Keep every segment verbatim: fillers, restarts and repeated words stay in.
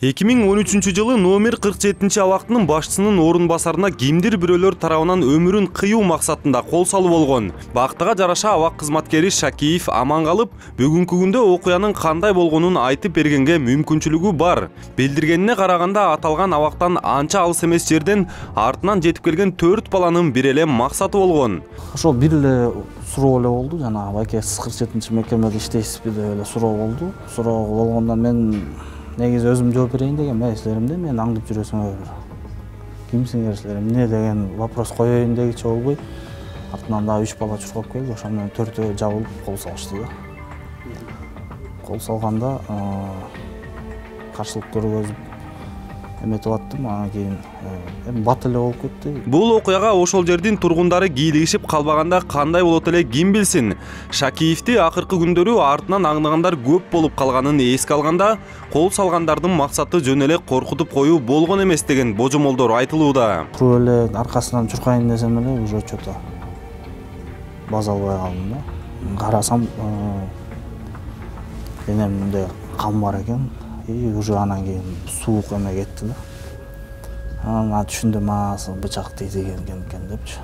эки миң он үчүнчү жылы номер кырк жетинчи абактынын башчысынын орун басарына кимдир бирөөлөр тарабынан өмүрүн кыюу максатында кол салуу болгон. Бактыга жараша абак кызматкери Шакиев аман калып, бүгүнкү күндө окуянын кандай болгонун айтып бергенге мүмкүнчүлүгү бар. Билдиргенине караганда аталган абактан анча алыс эмес жерден артынан жетип келген төрт баланын бир эле максаты болгон. Ошол бир эле суроо эле болду, жанагы байке сиз кырк жетинчи мекемеде иштейсизби деп эле суроо болду. Суроо болгондон мен негизи өзүм жооп берейин деген эмесилеримде, мен аңдып жүрөсүңөр. Кимсиңер силер, эмне деген вопрос коеюн дегичи болбой, артынан дагы үч бала чуркап келди, ошол менен төртөө жабылып кол салышты да. Кол салганда каршылык көргөзүп эметип аттым, анан кийин эми бат эле болуп кетти. Бул окуяга ошол жердин тургундары кийлигишип калбаганда кандай болот эле ким билсин. Шакиевди акыркы күндөрү артынан аңдыгандар көп болуп калганын эске алганда, кол салгандардын максаты жөн эле коркутуп коюу болгон эмес деген божомолдор айтылууда. Туруп эле аркасынан чуркайын десем эле уже чото база албай калдым да. Карасам денемде кан бар экен. И уже анан кийин суук эме кетти да. Анан түшүндүм, бычак тийген экен депчи.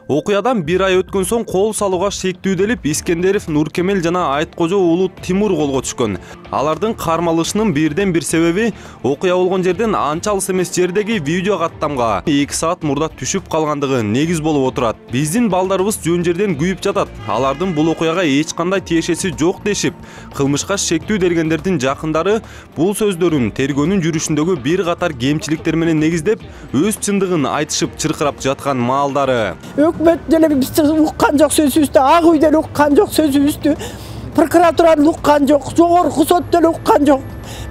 Окуядан бир ай өткөн соң кол салууга шектүүделип Искендеров Нуркемел жана Айткожо уулу Тимур колго түшкөн. Алардын кармалышынын бирден бир себеби окуя болгон жерден анча алыс эмес жердеги видео каттамга эки саат мурда түшүп калгандыгы негиз болуп отурат. Биздин балдарыбыз жөн жерден күйүп жатат. Алардын бул окуяга эч кандай тиешеси жок дешип, кылмышка шектүү бергендердин жакындары бул сөздөрүн тергөөнүн жүрүшүндөгү бир катар кемчиликтер менен негиздеп, өз чындыгын айтышып чыркырап жаткан маалдары. Өкмөт деле бизди уккан жок сөзүбүздү, Ак үй деле уккан жок сөзүбүздү, прокуратура уккан жок, жогорку сот деле уккан жок.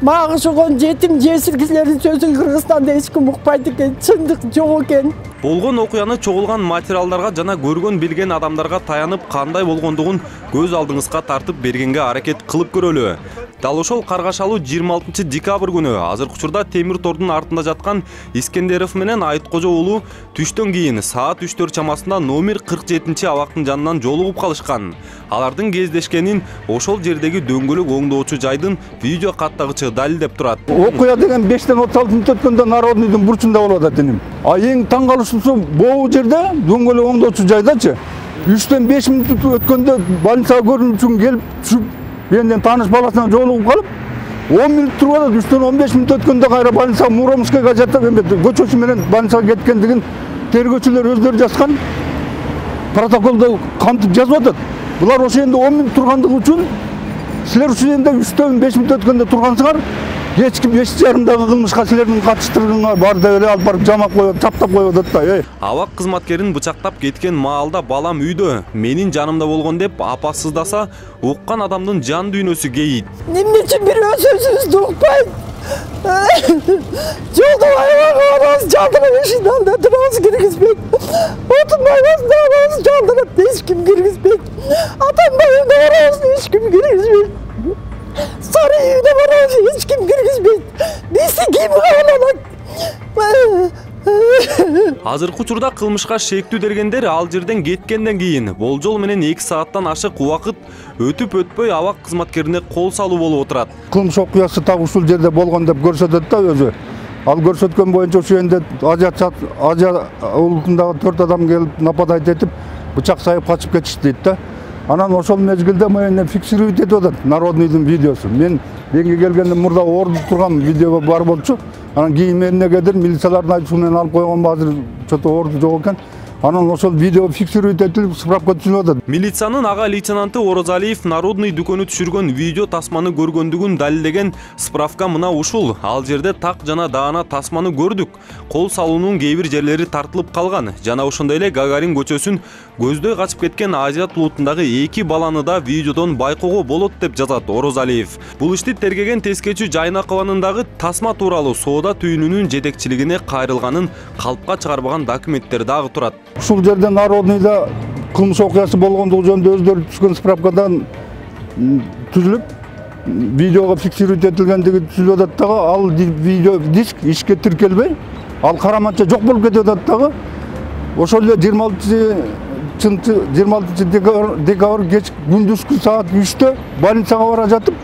Мага ошол жетим жесир кишилердин сөзүн Кыргызстанда эч ким укпайт экен, чындык жок экен. Болгон окуяны чогулган материалдарга жана көргөн билген адамдарга таянып кандай болгондугун көз алдыңызга тартып бергенге аракет кылып көрөлү. Дал ошол каргашалуу жыйырма алтынчы декабрь күнү азыркы учурда темир тордун артында жаткан Искендеров менен Айткожо уулу түштөн кийин саат үчтөр чамасында номер кырк жетинчи абактын жанынан жолугуп калышкан. Алардын кездешкенин ошол жердеги дөңгөлөк оңдоочу жайдын видео каттагычы далилдеп турат. Окуя деген бештен отуз алты мүнөт өткөндө Народныйдын бурчунда болуп атат энем. А эң таң калышуусу бул жерде дөңгөлөк оңдоочу жайдачы үчтөн беш мүнөт өткөндө больницага көрүнүү үчүн келип түшүп менден тааныш баласынан жолугуп калып, он мүнөт туруп атат, үчтөн он беш мүнөт өткөндө кайра больницага Муромскийге жатып эме көчөчү менен больницага кеткендигин тергөөчүлөр өздөрү жазган протоколдо кантип жазып атат. Булар ошол жерде он мүнөт тургандыгы үчүн силер ушул жерде үчтөн беш мүнөт өткөндө тургансыңар, эч ким эч жарымдагы кылмышка силердин катыштыргыңар бар деп эле алып барып жамап коюп, чаптап коюп атат да. Абак кызматкерин бычактап кеткен маалда балам үйдө, менин жанымда болгон деп апа сыздаса, уккан адамдын жан дүйнөсү кейит. Эмне үчүн бирөө сөзүбүздү укпайт? Жолдо аябагыбыз жалтырап эшикти алдында турабыз, киргизбейт. Отунбайбыз, дагыбыз жалтырап эч ким киргизбейт. Атамбай үйдө барабыз, эч ким киргизбейт. Сары үйдө барабыз, эч ким киргизбейт. Бизди ким кабыл алат? Азыркы учурда кылмышка шектүү бергендер ал жерден кеткенден кийин болжол менен эки сааттан ашык убакыт өтүп өтпөй абак кызматкерине кол салуу болуп отурат. Кылмыш окуясы так ушул жерде болгон деп көрсөтөт да өзү. Ал көрсөткөн боюнча ошол жерде Азия улутундагы төрт адам келип нападать этип, бычак сайып качып кетишти дейт да. Анан ошол мезгилде менен фиксировать этип атат Народныйдын видеосу. Мен менге келгенде мурда орду турган видео бар болчу. Анан кийин эмнегедир милициялардын айтуусу менен алып койгонбу, азыр чото орду жок экен. Анан ошол видео фиксировать этилип справка түзүлүп атат. Милициянын ага лейтенанты Орозалиев Народный дүкөнү түшүргөн видео тасманы көргөндүгүн далилдеген справка мына ушул. Ал жерде так жана даана тасманы көрдүк. Кол салуунун кээ бир жерлери тартылып калган. Жана ошондой эле Гагарин көчөсүн көздөй качып кеткен Азия улутундагы эки баланы да видеодон байкоого болот деп жазат Орозалиев. Бул ишти тергеген тескечи Жайнакованын дагы тасма тууралуу соода түйүнүнүн жетекчилигине кайрылганын калпка чыгарбаган документтер дагы турат. Ушул жерде Народныйда кылмыш окуясы болгондугу жөнүндө өздөрү түшкөн справкадан түзүлүп, видеого фиксировать этилгендиги түзүлүп атат дагы, ал видео диск ишке тиркелбей, ал караманча жок болуп кетип атат дагы. Ошол эле жыйырма алтынчы алтынчы жыйырма алтынчы декабрь кеч күндүзгү саат үчтө больницага бара жатып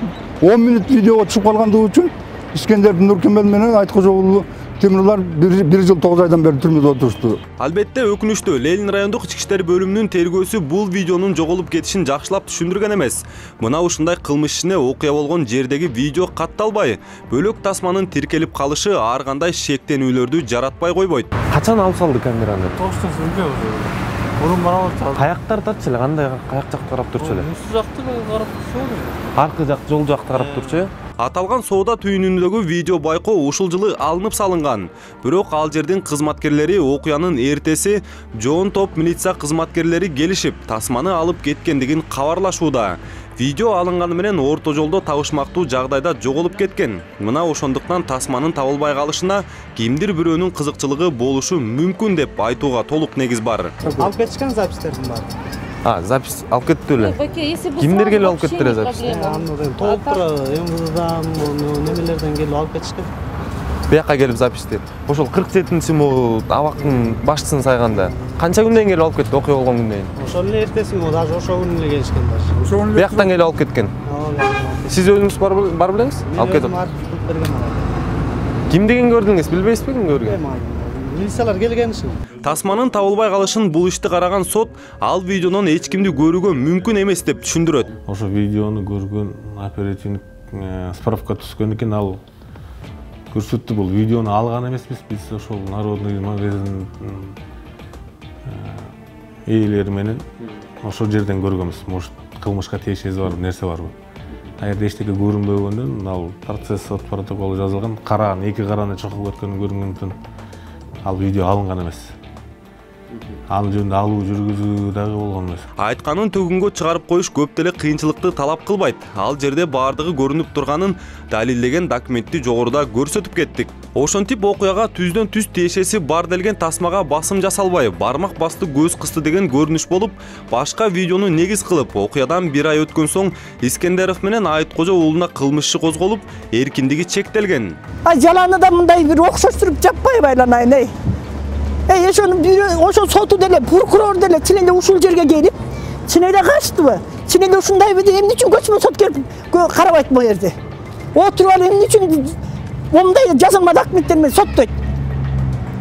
он мүнөт видеого түшүп калгандыгы үчүн Искендеров Нуркемел менен Айткожо уулу Тимурлар бир жыл тогуз айдан бери түрмөдө отурушту. Албетте өкүнүчтүү, Ленин райондук ички иштер бөлүмүнүн тергөөсү бул видеонун жоголуп кетишин жакшылап түшүндүргөн эмес. Мына ушундай кылмыш ишине окуя болгон жердеги видео катталбай, бөлөк тасманын тиркелип калышы ар кандай шектенүүлөрдү жаратпай койбойт. Качан алып салды камераны? токтосунбу мурун карап атат. Каяктар татчы эле, кандай каяк жакты карап турчу эле? Үстү жакты карап турчу. Аркы жак, жол жакты карап турчу э? Аталган соода түйүнүндөгү видео байкоо ушул жылы алынып салынган. Бирок ал жердин кызматкерлери окуянын эртеси жоон топ милиция кызматкерлери келишип, тасманы алып кеткендигин кабарлашууда. Видео алынганы менен орто жолдо табышмактуу жагдайда жоголуп кеткен. Мына ошондуктан тасманын табылбай калышына кимдир бирөөнүн кызыкчылыгы болушу мүмкүн деп айтууга толук негиз бар. Алып кетишкен запистердин баары. А, запись алып кетти эле. Кимдер келип алып кетти эле записти? Толук тура эм вэ дэдан, немелерден келип алып кетишкен. Бияка келип записти. Ошол кырк жетинчи мул абактын башчысын сайганда канча күндөн келип алып кетти, окуя болгон күндөн кийин? Ошол эле эртеси күнү, даже ошол күнү эле келишкен башы. Бияктан келип алып кеткен. Сиз өзүңүз бар белеңиз? Алып кетип. Ким деген көрдүңүз, билбейсизби ким көргөн? Милициялар келген ишин. Тасманын табылбай калышын бул ишти караган сот ал видеонун эч кимди көрүүгө мүмкүн эмес деп түшүндүрөт. Ошо видеону көргөн оперативник справка түскөн экен, ал көрсөттү. Бул видеону алган эмеспиз, биз ошол Народный магазин ээлери менен ошол жерден көргөнбүз. Может, кылмышка тиешеси бар нерсе барбы? Эгерде эчтеке көрүнбөгөндөн, ал процесс сот протоколу жазылган, караган эки караны чокуп кеткени көрүнгөндөн ал видео алынган эмес. Ал жөнүндө алуу жүргүзүү дагы болгон эмес. Айтканын төгүнгө чыгарып коюш көп деле кыйынчылыкты талап кылбайт. Ал жерде баардыгы көрүнүп турганын далилдеген документти жогоруда көрсөтүп кеттик. Ошентип окуяга түздөн түз тиешеси бар делген тасмага басым жасалбай, бармак басты көз кысты деген көрүнүш болуп, башка видеону негиз кылып, окуядан бир ай өткөн соң Искендеров менен Айткожо уулуна кылмыш иши козголуп, эркиндиги чектелген. Ай жаланы да мындай бир окшоштуруп жаппай байланайын эй. Эй, ошону ошол соту деле, прокурор деле чын эле ушул жерге келип, чын эле качтыбы? Чын эле ушундай бир эмне үчүн көчмө сот келип карабайт бул жерде? Отуруп алып эмне үчүн мындай жазылма документтер менен соттойт?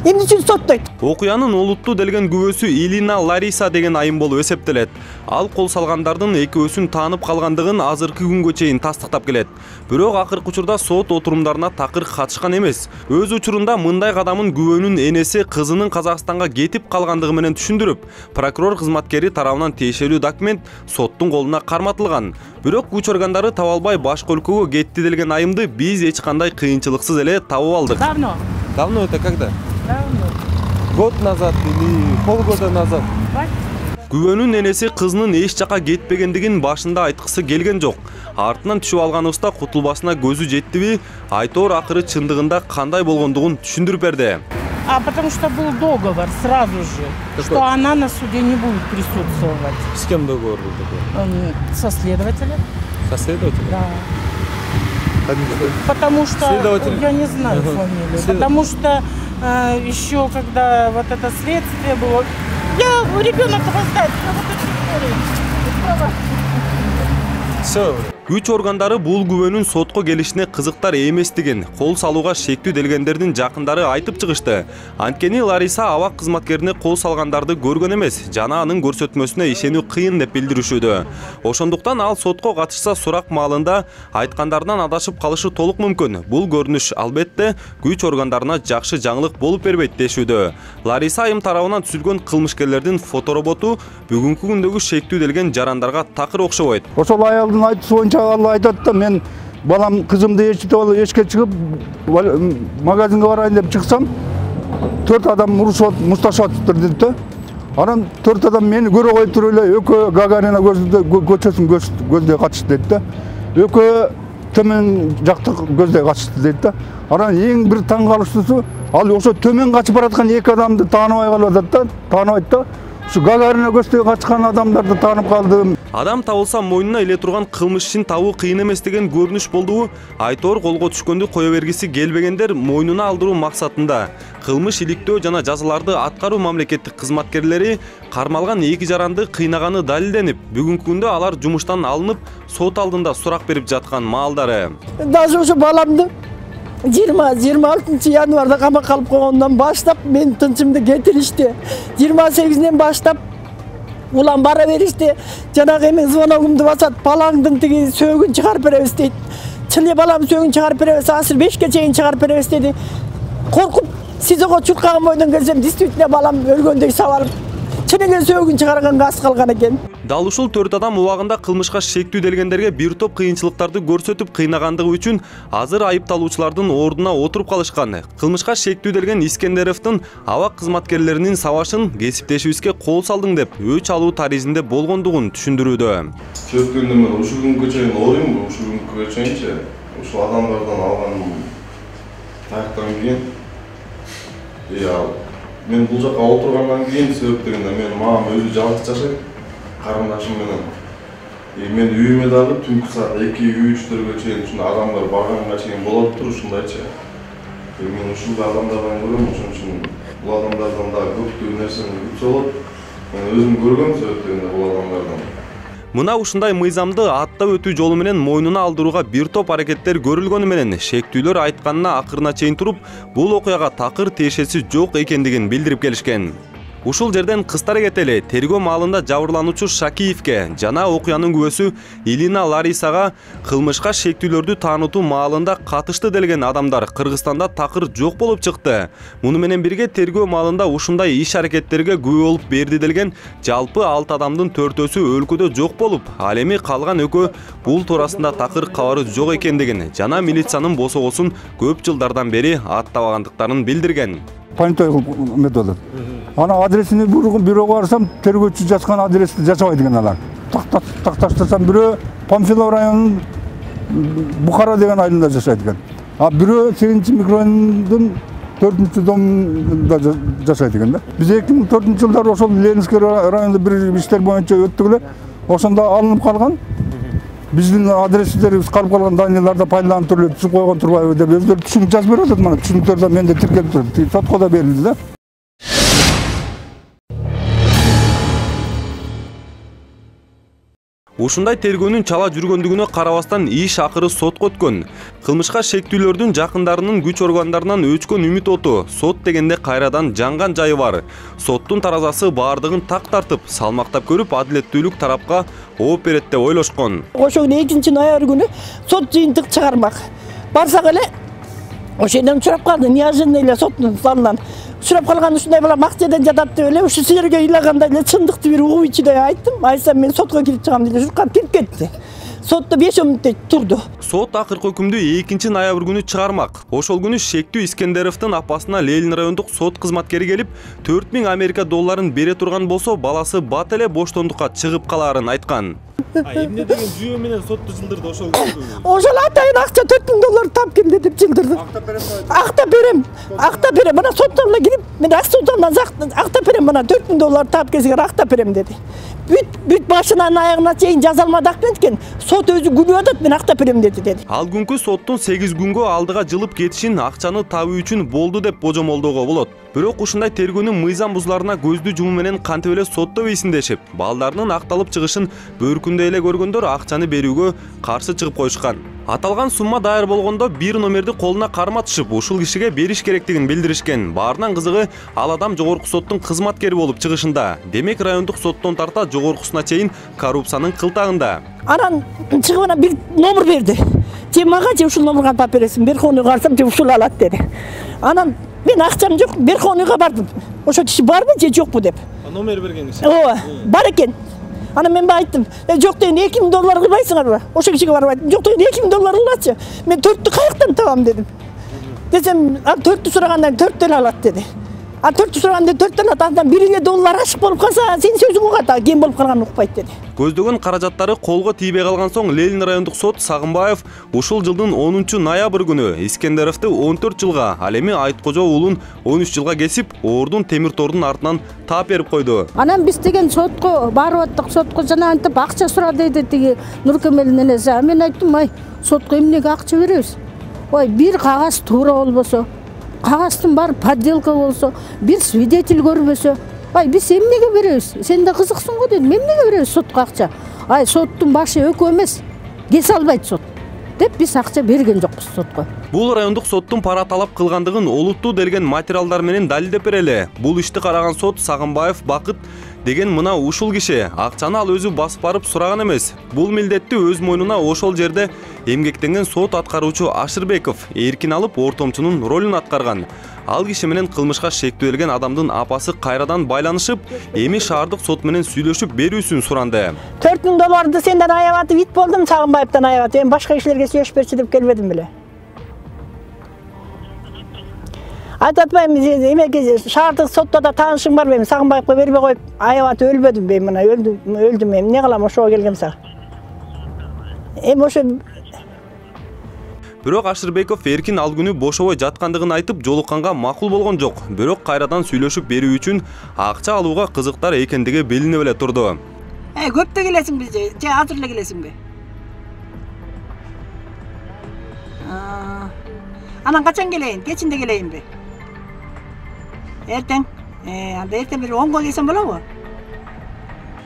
Эмне үчүн соттойт? Окуянын олуттуу делген күбөсү Илина Лариса деген айым болуп эсептелет. Ал кол салгандардын экөөсүн таанып калгандыгын азыркы күнгө чейин тастыктап келет. Бирок акыркы учурда сот отурумдарына такыр катышкан эмес. Өз учурунда мындай кадамын күбөнүн энеси кызынын Казакстанга кетип калгандыгы менен түшүндүрүп, прокурор кызматкери тарабынан тиешелүү документ соттун колуна карматылган. Бирок күч органдары таба албай башка өлкөгө кетти делген айымды биз эч кандай кыйынчылыксыз эле табып алдык. Давно. Давно это когда? Давно. Год назад или полгода назад? Күбөнүн энеси кызынын эч жака кетпегендигин башында айткысы келген жок. Артынан түшүп алганыбызда кутулбасына көзү жеттиби, айтор акыры чындыгында кандай болгондугун түшүндүрүп берди. А потому что был договор сразу же, Какой? что она на суде не будет присутствовать. С кем договор был такой? М, Со следователем. Со следователем? Да. Потому что Следователь. я не знаю Ага. фамилию. След- Потому что э, еще когда вот это следствие было, я ребенок опоздает, Все. Күч органдары бул күбөнүн сотко келишине кызыктар эместигин, кол салууга шектүү делгендердин жакындары айтып чыгышты. Анткени Лариса абак кызматкерине кол салгандарды көргөн эмес, жана анын көрсөтмөсүнө ишенүү кыйын деп билдиришүүдө. Ошондуктан ал сотко катышса сурак маалында айткандарынан адашып калышы толук мүмкүн. Бул көрүнүш албетте күч органдарына жакшы жаңылык болуп бербейт дешүүдө. Лариса айым тарабынан түзүлгөн кылмышкерлердин фотороботу бүгүнкү күндөгү шектүү делген жарандарга такыр окшобойт. Ошол аялдын айтуусу боюнча ал айтат да, мен балам кызымды эчитип алып эшикке чыгып магазинге барайын деп чыксам, төрт адам урушуп мушташып атыптыр дейт да. Анан төрт адам мени көрө коюп туруп эле экөө Гагарина көчөсүн көздөй катышты дейт да. Экөө төмөн жакты көздөй катышты дейт да. Анан эң бир таң калыштуусу, ал ошо төмөн качып бараткан эки адамды тааныбай калып атат да, тааныбайт да. ушу Гагарина көчтө качкан адамдарды таанып калдым. Адам табылса мойнуна эле турган кылмыш ишин табуу кыйын эмес деген көрүнүш болду. Айтор колго түшкөндү кое бергиси келбегендер мойнуна алдыруу максатында кылмыш иликтөө жана жазаларды аткаруу мамлекеттик кызматкерлери кармалган эки жаранды кыйнаганы далилденип, бүгүнкү күндө алар жумуштан алынып, сот алдында сурак берип жаткан маалдары. Даже ушу баламды жыйырма жыйырма алтынчы январда камакка алып койгондон баштап мен тынчымды кетиришти. жыйырма сегизинен баштап улам бара беришти. Жанагы эми звоногумду басат, балаңдын тиги сөөгүн чыгарып беребиз дейт. Чын балам сөөгүн чыгарып беребиз, азыр бешке чейин чыгарып беребиз деди. Коркуп СИЗОго чуркаган бойдон келсем, действительно балам өлгөндөй сабалып, чынымен сөөгүн чыгарганга аз калган экен. Дал ушул төрт адам убагында кылмышка шектүү делгендерге бир топ кыйынчылыктарды көрсөтүп кыйнагандыгы үчүн азыр айыпталуучулардын ордуна отуруп калышкан. Кылмышка шектүү делген Искендеровдун абак кызматкерлеринин сабашын кесиптешибизге кол салдың деп өч алуу таризинде болгондугун түшүндүрүүдө. Чөткөндө мен ушул күнгө чейин оройм, ушул күнгө чейинчи ушул адамдардан алган таяктан кийин я мен бул жака отургандан кийин себеп дегенде мен мамам өзү жалгыз жашайт, карындашым менен. И мен үйүмө дагы түнкү саат эки үчтөргө чейин ушундай адамдар барганга чейин болот тур ушундайчы. Мен ушул адамдардан көрөм, ошон үчүн бул адамдардан дагы көптөгөн нерсени күтсө болот. Мен өзүм көргөм себеп дегенде бул адамдардан. Мына ушундай мыйзамды аттап өтүү жолу менен мойнуна алдырууга бир топ аракеттер көрүлгөнү менен шектүүлөр айтканына акырына чейин туруп, бул окуяга такыр тиешеси жок экендигин билдирип келишкен. Ушул жерден кыстары кетели тергөө маалында жабырлануучу Шакиевке жана окуянын күбөсү Илина Ларисага кылмышка шектүүлөрдү таанытуу маалында катышты делген адамдар Кыргызстанда такыр жок болуп чыкты. Муну менен бирге тергөө маалында ушундай иш аракеттерге күбө болуп берди делген жалпы алты адамдын төртөөсү өлкөдө жок болуп, ал эми калган экөө бул туурасында такыр кабары жок экендигин жана милициянын босогосун көп жылдардан бери аттабагандыктарын билдирген. Понятой методу. Ана адресini бирөөгө барсам, тергөөчү жазган адрести жашабайт экен алар. Такташтасам бирөө Памфилов районунун Бухара деген айылында жашайт экен. А бирөө сегизинчи микрорайондун төртүнчү домунда жашайт экен да. Биз эки миң төртүнчү жылдары ошол Ленинский районунда бир иштер боюнча өттүк эле. Ошондо алынып калган. Биздин адрестерибиз калып калган данныйларды пайдаланып туруп түшүп койгон турбайбы деп өздөрү түшүнүк жазып берип атат. Мына түшүнүктөрдө менде тиркелип турат. Сотко да берилди да. Ушундай тергөөнүн чала жүргөндүгүнө карабастан иш акыры сотко өткөн. Кылмышка шектүүлөрдүн жакындарынын күч органдарынан өчкөн үмүт оту сот дегенде кайрадан жанган жайы бар. Соттун таразасы баардыгын так тартып, салмактап көрүп, адилеттүүлүк тарапка ооп берет деп ойлошкон. Ошол экинчи ноябрь күнү сот жыйынтык чыгармак. Барсак эле ошол жерден сурап калды, неожиданно эле соттун залынан. Сурап калган ушундай бала макчадан жатат деп эле ушу силерге ыйлагандай эле чындыкты бир угуу ичиде айттым. Айтсам мен сотко кирип чыгам деп журкап кирип кетти. Сотто беш он мүнөттөй турду. Сот акыркы өкүмдү экинчи ноябрь күнү чыгармак. Ошол күнү шектүү Искендеровдун апасына Ленин райондук сот кызматкери келип, төрт миң Америка долларын бере турган болсо, баласы бат эле боштондукка чыгып калаарын айткан. А эмне деген жүйө менен сотто жылдырды ошол күнү? Ошол атайын акча төрт миң доллар тап келди деп жылдырды. Актап берем. Актап берем. Актап берем. Мына соттон эле кирип, мен актаптан актап берем, мына төрт миң доллар тап келсе актап берем деди. Бүт бүт башынан аягына чейин жаза алмадык экен. Сот өзү күнүп атат, мен актап берем деди деди. Ал күнкү соттун сегиз күнгө алдыга жылып кетишин акчаны табуу үчүн болду деп божомолдоого болот. Бирок ушундай тергөөнүн мыйзам бузуларына көздү жумуу менен кантип эле сотто бейсиндешип, балдарынын акталып чыгышын бөркүндө эле көргөндөр акчаны берүүгө каршы чыгып коюшкан. Аталган сумма даяр болгондо бир номерди колуна карматышып, ушул кишиге бериш керектигин билдиришкен. Баарынан кызыгы ал адам жогорку соттун кызматкери болуп чыгышында. Демек райондук соттон тарта жогоркусуна чейин коррупциянын кылтагында. Анан чыгып анан бир номер берди. Же мага же ушул номерге тап бересиң, Берхонуйга барсам же ушул алат деди. Анан мен акчам жок, Берхонуйга бардым. Ошол киши барбы же жокпу деп. Номер берген киши. Ооба, бар экен. Анан мен айттым, жок деген эки миң доллар кылбайсыңарбы? Ошол кишиге барып айттым, жок деген эки миң доллар кылачы. Мен төрттү каяктан табам дедим. Десем, ал төрттү сурагандан төрттү эле алат деди. А төрт сураганда төрттөн атадан бириге доллар ашык болуп калса, сен сөзүң угат, а кем болуп калганын укпайт деди. Көздөгөн каражаттары колго тийбей калган соң Ленин райондук сот Сагынбаев ушул жылдын онунчу ноябрь күнү Искендеровду он төрт жылга, ал эми Айткожо уулун он үч жылга кесип, ордун темир тордун артынан таап берип койду. Анан биз деген сотко барып аттык, сотко жана антип акча сура дейт тиги Нуркемелдин энеси. А мен айттым, ай, сотко эмнеге акча беребиз? Ой, бир кагаз туура болбосо, кагаздын баары подделка болсо, бир свидетель көрбөсө, ай биз эмнеге беребиз? Сен да кызыксың го дедим. Эмнеге беребиз сотко акча? Ай, соттун башы өкө эмес. Кесе албайт сот. Деп биз акча берген жокпуз сотко. Бул райондук соттун пара талап кылгандыгын олуттуу делген материалдар менен далилдеп берели. Бул ишти караган сот Сагынбаев Бакыт деген мына ушул киши акчаны ал өзү басып барып сураган эмес. Бул милдетти өз мойнуна ошол жерде эмгектенген сот аткаруучу Ашырбеков эркин алып ортомчунун ролун аткарган. Ал киши менен кылмышка шектелген адамдын апасы кайрадан байланышып, эми шаардык сот менен сүйлөшүп берүүсүн суранды. төрт миң долларды сенден аябатып ит болдум, Сагынбаевден аябатып. Эми башка кишилерге сүйлөшүп берчи деп келбедим беле. Айтып атпайм, эмеге шаардык сотто да таанышым бар бем, Сагынбаевга бербей коюп, аябатып өлбөдүм бем, мына өлдүм, өлдүм эми. Эмне кылам, ошого келгем сага. Эми ошо Бирок Ашырбеков эркин ал күнү бошобой жаткандыгын айтып, жолукканга макул болгон жок. Бирок кайрадан сүйлөшүп берүү үчүн акча алууга кызыктар экендиги билинип эле турду. Э, көптө келесиңби же, же азыр эле келесиңби? Анан качан келейин? Кечинде келейинби? Эртең. Э, анда эртең бир онго келсем болобу?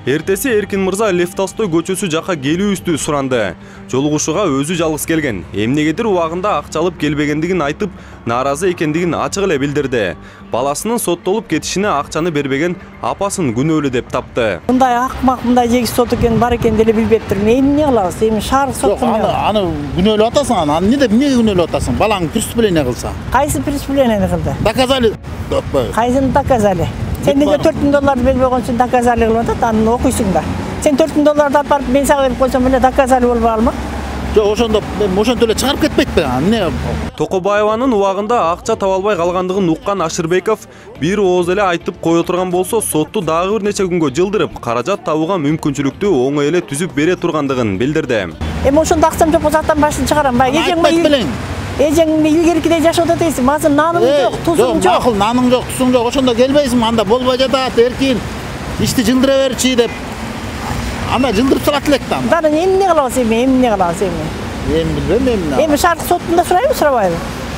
Эртеси Эркин мырза Лев Толстой көчөсү жака келүүбүздү суранды. Жолугушууга өзү жалгыз келген. Эмнегедир убагында акча алып келбегендигин айтып, нааразы экендигин ачык эле билдирди. Баласынын соттолуп кетишине акчаны бербеген апасын күнөөлүү деп тапты. Мындай акмак, мындай жегис сот экен бар экен деле билбептир. Эмне кылабыз? Эми шаар сот. Аны аны күнөөлүү атасың, аны эмне деп эмнеге күнөөлүү атасың? Балаң преступление кылса. Кайсы преступление кылды? Доказали. Кайсын доказали? Сен неге төрт миң долларды бербей койсоң доказали кылып атат, аны окуйсуң да. Сен төрт миң долларды алып барып мен сага берип койсом эле доказали болбой калмак. Жок, ошондо мен ошентип эле чыгарып кетпейтпи? Эмне? Токобаеванын убагында акча таба албай калгандыгын уккан Ашырбеков бир ооз эле айтып кое турган болсо, сотту дагы бир нече күнгө жылдырып, каражат табууга мүмкүнчүлүктү оңой эле түзүп бере тургандыгын билдирди. Эми ошондо акчам жок болсо аттан башын чыгарам. Бай эжең Эжеңди илгеркидей жашап атасың, мазыр наның жок, тузуң жок. Макул, наның жок, тузуң жок. Ошондо келбейсиңби? Анда болбой жатат, эркин. Ишти жылдыра берчи деп. Анда жылдырып салат элек да. Дары эмне кылабыз эми, эмне кылабыз эми? Эми билбейм эмне. Эми шаардык соттунда сурайбы, сурабайбы?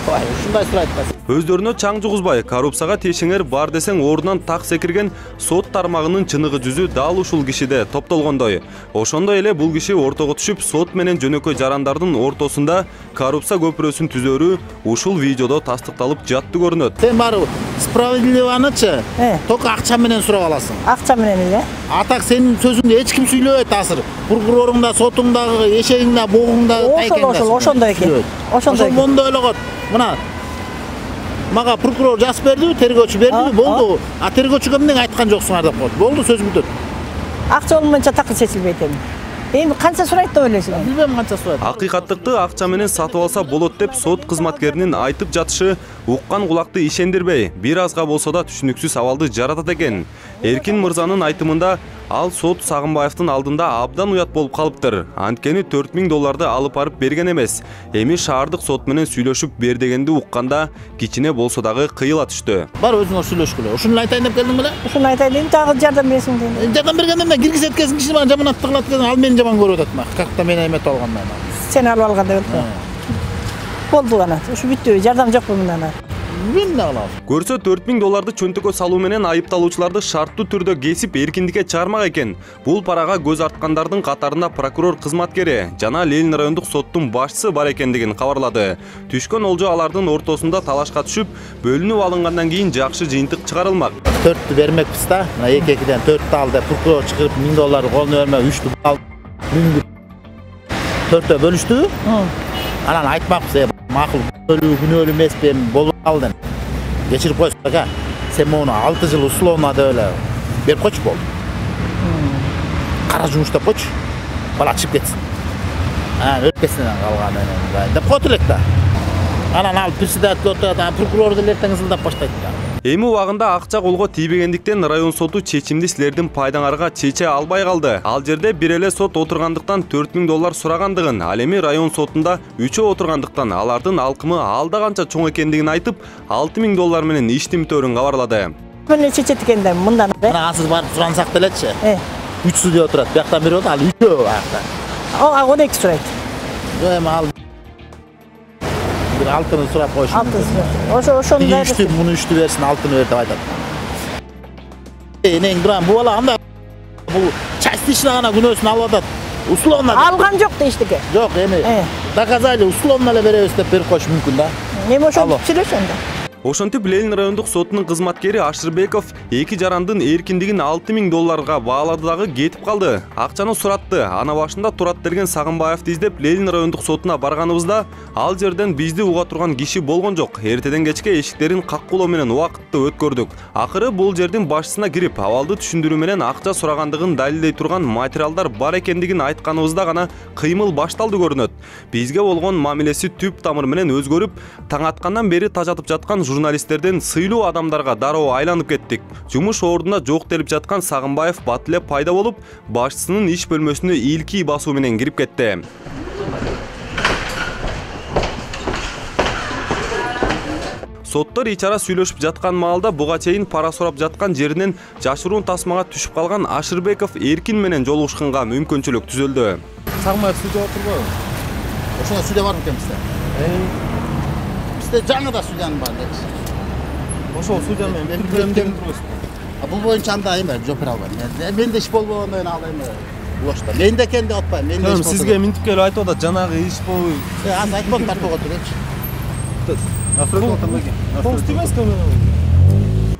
Ой, ушундай сурайт да. Өздөрүнө чаң жугузбай, коррупцияга тиешеңер бар десең ордунан так секирген сот тармагынын чыныгы жүзү дал ушул кишиде топтолгондой. Ошондой эле бул киши ортого түшүп, сот менен жөнөкөй жарандардын ортосунда коррупция көпүрөсүн түзөрү ушул видеодо тастыкталып жатты көрүнөт. Сен барып справедливанычы только акча менен сурап аласың. Акча менен эле? А так сенин сөзүңдү эч ким сүйлөбөйт азыр. Прокуроруң да, сотуң да, эшегиң да, богуң да тайкең да. Ошол, ошондой экен. Ошондой мондой эле кот. Мына мага прокурор жазып берди, тергөөчү берди, болду. А тергөөчүгө эмне айткан жоксуңар деп коет. Болду, сөз бүтөт. Акча болмойнча такыр чечилбейт эми. Эми канча сурайт деп ойлойсуң? Билбейм канча сурайт. Акыйкаттыкты акча менен сатып алса болот деп сот кызматкеринин айтып жатышы уккан кулакты ишендирбей, бир азга болсо да түшүнүксүз абалды жаратат экен. Эркин мырзанын айтымында ал сот Сагынбаевдин алдында абдан уят болуп калыптыр. Анткени төрт миң долларды алып барып берген эмес. Эми шаардык сот менен сүйлөшүп бер дегенди укканда кичине болсо дагы кыйыла түштү. Бар өзүңө сүйлөшкүлө. Ушуну айтайын деп келдиң беле? Ушуну айтайын деп дагы жардам берсиң дейм. Жардам бергенде эмне киргизет эткесин киши менен жаманатты кылат экен, ал мени жаман көрүп атат. Какта мен эметип алгандан. Сен алып алганда болду. Болду ана. Ушу бүттү. Жардам жокпу мындан? Эмне кылабыз? Көрсө төрт миң долларды чөнтөккө салуу менен айыпталуучуларды шарттуу түрдө кесип эркиндикке чыгармак экен. Бул парага көз арткандардын катарында прокурор кызматкери жана Ленин райондук соттун башчысы бар экендигин кабарлады. Түшкөн олжо алардын ортосунда талашка түшүп, бөлүнүп алынгандан кийин жакшы жыйынтык чыгарылмак. төрттү бермекпиз да. Мына эки экиден төрттү ал деп прокурор чыгып миң долларды колуна бермей үчтү ал миңди төрттө бөлүштү. Анан айтмакпыз, макул күнөөлүү күнөөлүү эмеспи, болуп калды. Кечирип койсуң ака. Сен муну алты жыл условно деп эле берип койчу болду. Кара жумуштап койчу. Бала чыгып кетсин. А, өткөсүнөн калган менен деп койт элек да. Анан ал председатель отурат, прокурор деле эртең ызылдап баштайт да. Эми убагында акча колго тийбегендиктен район соту чечимди силердин пайдаңарга чече албай калды. Ал жерде бир эле сот отургандыктан төрт миң доллар сурагандыгын, ал эми район сотунда үчөө отургандыктан алардын алкымы алда канча чоң экендигин айтып, алты миң доллар менен иштин төрүн кабарлады. Мына чечет экенде мындан. Мына сиз барып сурансак делечи. үч судья отурат. Бияктан бири болот, ал үчөө баякта. О, он эки сурайт. Жок, эми ал бир алтыны сурап коюш. Алтын. Ошо ошондой. Үчтү, муну үчтү берсин, алтыны бер деп айтат. Энең турам, бу бала андай бул частично гана күнөөсүн алып атат. Условно алган жок дештике. Жок, эми доказали, условно эле беребиз деп берип коюш мүмкүн да. Эми ошентип сүйлөшөндө. Ошентип Ленин райондук сотунун кызматкери Ашырбеков эки жарандын эркиндигин алты миң долларга баалады дагы кетип калды. Акчаны суратты. Ана башында турат берген Сагынбаевди издеп Ленин райондук сотуна барганыбызда ал жерден бизди уга турган киши болгон жок. Эртеден кечке эшиктерин каккулоо менен убакытты өткөрдүк. Акыры бул жердин башчысына кирип, абалды түшүндүрүү менен акча сурагандыгын далилдей турган материалдар бар экендигин айтканыбызда гана кыймыл башталды көрүнөт. Бизге болгон мамилеси түп тамыр менен өзгөрүп, таң аткандан бери тажатып жаткан журналисттерден сыйлуу адамдарга дароо айланып кеттик. Жумуш ордуна жок делип жаткан Сагынбаев бат эле пайда болуп, башчысынын иш бөлмөсүнө ийилки басуу менен кирип кетти. Соттор ичара сүйлөшүп жаткан маалда буга чейин пара сурап жаткан жеринен жашыруун тасмага түшүп калган Ашырбеков Эркин менен жолугушканга мүмкүнчүлүк түзүлдү. Сагынбаев судья отурбойбу? Ошондо судья барбы экен бизде? Бизде жаңыда судьянын бар дейт. Ошол судья менен бир бөлүмдөн турбайсызбы? Бул боюнча анда эме жооп бере албайм. Менде иш болбогондон кийин ал эме лошто. Менде экен деп атпайм. Менде иш болду. Сизге минтип келип айтып атат, жанагы иш болбой. Э, аны айтпам, тартып отурчу.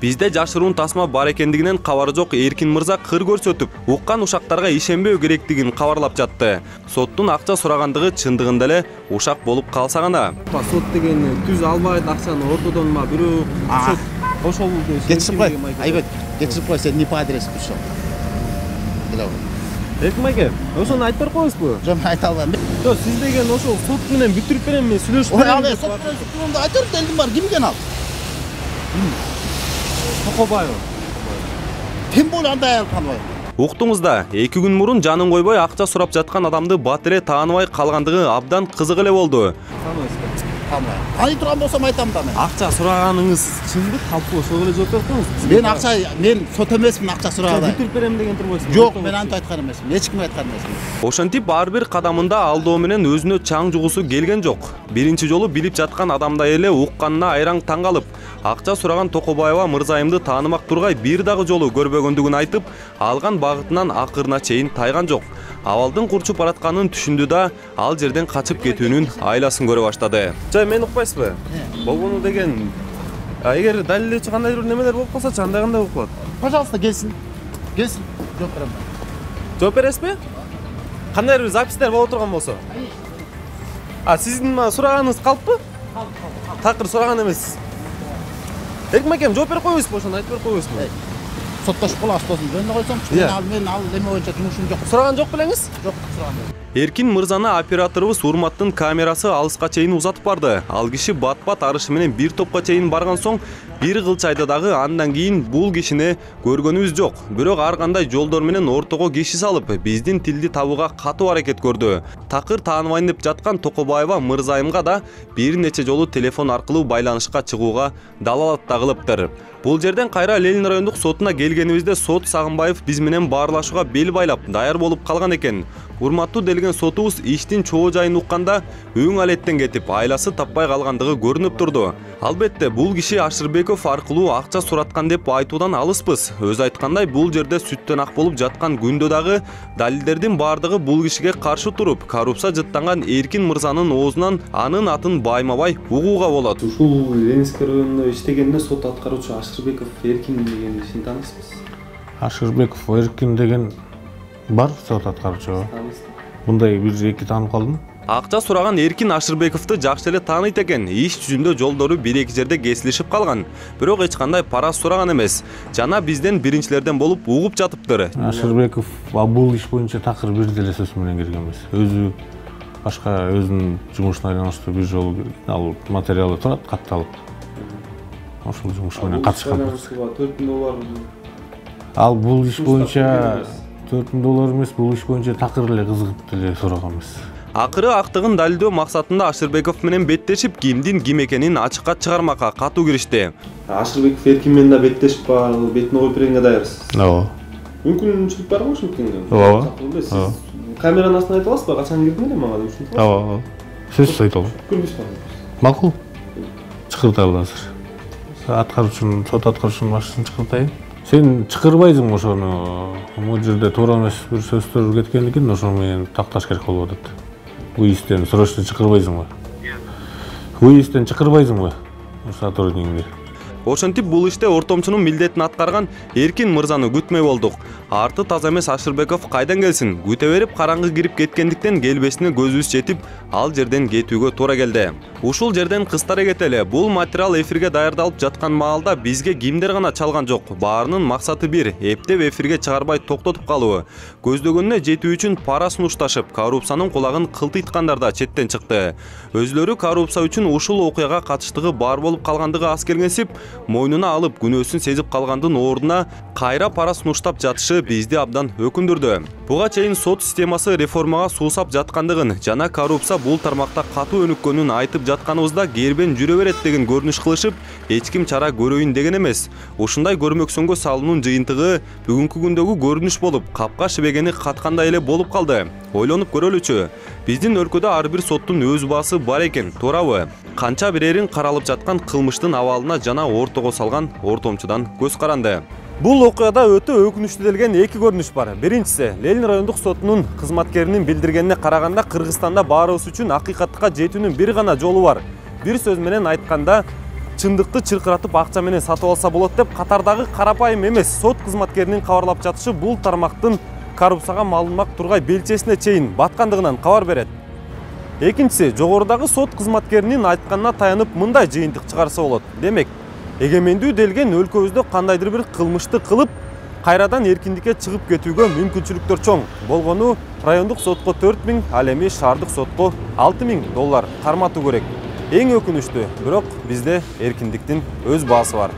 Бизде жашыруун тасма бар экендигинен кабары жок Эркин мырза кыр көрсөтүп, уккан ушактарга ишенбөө керектигин кабарлап жатты. Соттун акча сурагандыгы чындыгында эле ушак болуп калса гана. Сот деген түз албайт акчаны ортодон ма бирөө ошол кетип кой. Айбек, кетип кой, сен не по адресу пришел. Эркин айке, ошону айтып берип коесузбу? Жок, айта албайм. Жок, сиз деген ошол сот менен бүтүрүп берем, мен сүйлөшүп берем. Ой, ал сот менен бүтүрүмдү айтыр, делдим бар, ким экен ал? Токобаев. Тем более андай аял тааныбай. Уктуңузда, эки күн мурун жанын койбой акча сурап жаткан адамды бат эле тааныбай калгандыгы абдан кызык эле болду. Тааныбайм. Ай турган болсом айтам да мен. Акча сураганыңыз чынбы? Калпы ошого эле жооп берип коюңуз. Мен акча, мен сот эмесмин, акча сураган. Бүтүрүп берем деген турбайсызбы? Жок, мен антип айткан эмесмин. Эч кимге айткан эмесмин. Ошентип ар бир кадамында алдоо менен өзүнө чаң жугусу келген жок. Биринчи жолу билип жаткан адамдай эле укканына айраң таң калып, акча сураган Токобаева мырзайымды таанымак тургай бир дагы жолу көрбөгөндүгүн айтып, алган багытынан акырына чейин тайган жок. Абалдын курчуп баратканын түшүндү да, ал жерден качып кетүүнүн айласын көрө баштады. Жай мени укпайсызбы? Болгону деген эгер далилдөөчү кандайдыр бир немелер болуп калса, андай кандай болуп калат? Пожалуйста, келсин. Келсин, жооп берем. Жооп бересизби? Кандайдыр бир запистер боло турган болсо. А сиздин сураганыңыз калппы? Калп, калп. Такыр сураган эмессиз. Эркин акем, жооп берип коюңузбу, ошону айтып берип коюңузбу. Соттошуп калабыз тосын. Жөнүнө койсом, мен ал мен ал эме боюнча жумушум жок. Сураган жок белеңиз? Жок, сураган жок. Эркин мырзаны операторубуз Урматтын камерасы алыска чейин узатып барды. Ал киши бат-бат арышы менен бир топко чейин барган соң, бир кылчайда дагы андан кийин бул кишини көргөнүбүз жок. Бирок ар кандай жолдор менен ортого киши салып, биздин тилди табууга катуу аракет көрдү. Такыр тааныбайын деп жаткан Токобаева мырзайымга да бир нече жолу телефон аркылуу байланышка чыгууга далалат да кылыптыр. Бул жерден кайра Ленин райондук сотуна келгенибизде сот Сагынбаев биз менен баарлашууга бел байлап даяр болуп калган экен. Урматтуу делген сотубуз иштин чоо жайын укканда өң алеттен кетип, айласы таппай калгандыгы көрүнүп турду. Албетте, бул киши Ашырбеков аркылуу акча сураткан деп айтуудан алыспыз. Өз айткандай, бул жерде сүттөн ак болуп жаткан күндө дагы далилдердин бардыгы бул кишиге каршы туруп, коррупция жыттанган Эркин мырзанын оозунан анын атын байма-бай угууга болот. Ушул Ленинский районунда иштегенде сот аткаруучу Ашырбеков Эркин деген кишини тааныйсызбы? Ашырбеков Эркин деген бар сот аткаруучу. Мындай бир-эки таанып калдым. Акча сураган Эркин Ашырбековду жакшы эле тааныйт экен. Иш жүзүндө жолдору бир-эки жерде кесилишип калган. Бирок эч кандай пара сураган эмес. Жана бизден биринчилерден болуп угуп жатыптыр. Ашырбеков бул иш боюнча такыр бир деле сөз менен кирген эмес. Өзү башка өзүнүн жумушуна байланыштуу бир жолу ал материалы турат катталып. ошол жумуш менен катышкан. төрт миң доллар. Ал бул иш боюнча төрт миң доллар эмес, бул иш боюнча такыр эле кызыгып деле сураган эмес. Акыры актыгын далилдөө максатында Ашырбеков менен беттешип, кимдин ким экенин ачыкка чыгармакка катуу киришти. Ашырбеков Эркин менен да беттешип барып, бетине коюп бергенге даярсыз. Ооба. Мүмкүнчүлүк барбы ошентиңге? Ооба. Сиз камеранын астына айта аласызбы? Качан кирдиң эле мага деп ушинтип? Ооба. Сөзсүз айта алам. Көрбөйсүзбү? Макул. Чыкырталы азыр. Аткаруучунун, сот аткаруучунун башчысын чыкыртайын. Сен чыкырбайсың ошону. Могу жерде туура эмес бир сөздөр кеткендигин ошо менен такташ керек болуп атат. Уйистен срочно чыкырбайсыңбы? Уйистен чыкырбайсыңбы? Сотруднигиңди. Ошентип бул иште ортомчунун милдетин аткарган Эркин мырзаны күтмөй болдук. Арты таза эмес Ашырбеков кайдан келсин? Күтө берип караңгы кирип кеткендиктен келбесине көзүбүз жетип, ал жерден кетүүгө туура келди. Ушул жерден кыстара кетели. Бул материал эфирге даярдалып жаткан маалда бизге кимдер гана чалган жок. Баарынын максаты бир, эптеп эфирге чыгарбай токтотуп калуу. Көздөгөнүнө жетүү үчүн пара сунушташып, коррупциянын кулагын кылтыйткандар да четтен чыкты. Өзлөрү коррупция үчүн ушул окуяга катыштыгы бар болуп калгандыгы аз келгенсип, мойнуна алып күнөөсүн сезип калгандын ордуна кайра пара сунуштап жатышы бизди абдан өкүндүрдү. Буга чейин сот системасы реформага суусап жаткандыгын жана коррупция бул тармакта катуу өнүккөнүн айтып жатканыбызда кербен жүрө берет деген көрүнүш кылышып, эч ким чара көрөйүн деген эмес. Ушундай көрмөксөнгө салуунун жыйынтыгы бүгүнкү күндөгү көрүнүш болуп, капка шибегени каткандай эле болуп калды. Ойлонуп көрөлүчү. Биздин өлкөдө ар бир соттун өз баасы бар экен, туурабы? Канча бирерин каралып жаткан кылмыштын абалына жана ортого салган ортомчудан көз каранды. Бул окуяда өтө өкүнүчтүү делген эки көрүнүш бар. Биринчиси, Ленин райондук сотунун кызматкеринин билдиргенине караганда Кыргызстанда баарыбыз үчүн акыйкатка жетүүнүн бир гана жолу бар. Бир сөз менен айтканда, чындыкты чыркыратып акча менен сатып алса болот деп катардагы карапайым эмес сот кызматкеринин кабарлап жатышы бул тармактын коррупцияга малынмак тургай белчесине чейин баткандыгынан кабар берет. Экинчиси, жогорудагы сот кызматкеринин айтканына таянып мындай жыйынтык чыгарса болот. Демек, эгемендүү делген өлкөбүздө кандайдыр бир кылмышты кылып, кайрадан эркиндикке чыгып кетүүгө мүмкүнчүлүктөр чоң. Болгону райондук сотко төрт миң, ал эми шаардык сотко алты миң доллар карматуу керек. Эң өкүнүчтүү, бирок бизде эркиндиктин өз баасы бар.